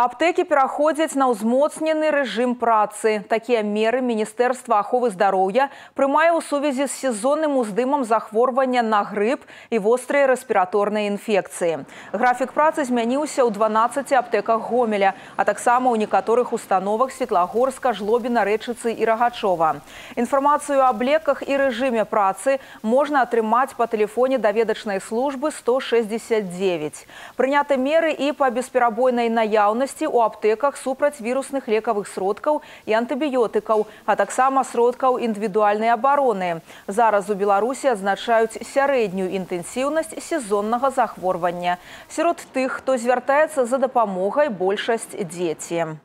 Аптэкі пераходзяць на ўзмоцнены рэжым працы. Такія меры Міністэрства аховы здароўя прымае ў сувязі з сезонным уздымам захворвання на грып і вострыя рэспіраторныя інфекцыі. Графік працы змяніўся ў 12 аптэках Гомеля, а таксама ў некаторых установах Светлагорска, Жлобіна, Рэчыцы і Рагачова. Інфармацыю аб леках і рэжыме працы можна атрымаць па тэлефоне даведачнай службы 169. Прыняты меры і па бесперабойнай наяўнасці у аптэках супраць вірусных лекавых сродкаў і антыбіётыкаў, а таксама сродкаў індывідуальнай абароны. Зараз у Беларусі адзначаюць сярэднюю інтэнсіўнасць сезоннага захворвання. Сярод тых, хто звяртаецца за дапамогай, большасць дзеці.